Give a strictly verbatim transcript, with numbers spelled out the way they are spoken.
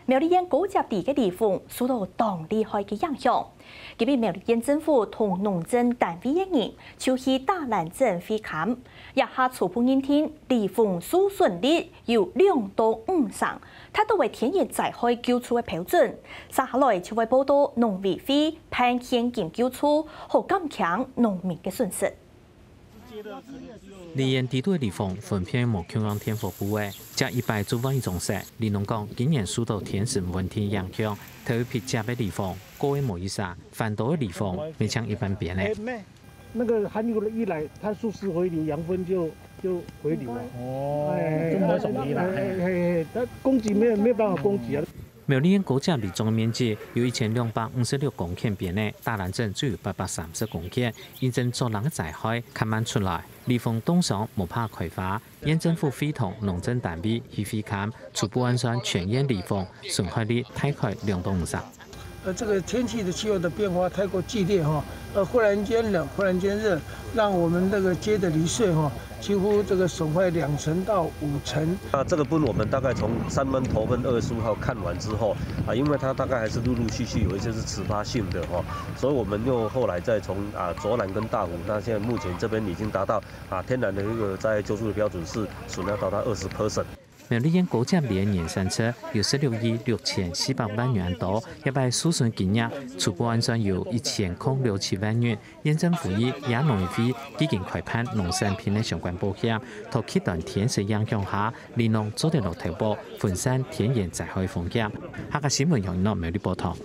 苗栗縣高接地个颱風受到當厲害个影響。今日苗栗縣政府同農政單位个人就去打蘭鎮會勘，這下初步認定颱風受損率有兩到五成，達到个天然災害救助个標準。接下來就會報到農委會辦現金救助，好減輕農民个損失。 梨園地區个地方分別無共樣電火部位，這一擺就換一種色。里農講，今年受到天時問題影響，頭一批接个地方過个無幾儕，反倒个地方變成一半邊个。那個寒流一來，它速速回流，養分就就回流了。哦，哎，就沒有什麼依賴。哎，哎，哎，它供給沒有沒有辦法供給啊。 苗栗縣高接梨種个面積有一千兩百五十六公頃邊个，打蘭鎮只有八百三十公頃，因為做冷个災害較慢出來，梨紅當傷無辦法開花。縣政府會同農政單位去會勘，初步換算全縣梨紅損害率大概兩到五成。呃，這個天氣的氣候的變化太過劇烈哈，呃，忽然間冷，忽然間熱，讓我們那個接的梨穗哈，幾乎這個損壞兩成到五成。那這個部分我們大概從三月頭份二十五號看完之後，啊，因為它大概還是陸陸續續有一些是遲發性的哈，所以我們又後來再從，啊，卓蘭跟大湖，那現在目前這邊已經達到，啊，天然的一個災害救助的標準是損害到達二十percent。 苗栗縣高接梨个年產值有十六億六千四百萬元多，這擺受損金額初步換算有一千空六七萬元。縣政府以及農委會基金開辦農產品个相關保險，在極端天時影響下，梨農做得落投保，分散天然災害風險。客家新聞楊一諾苗栗報導。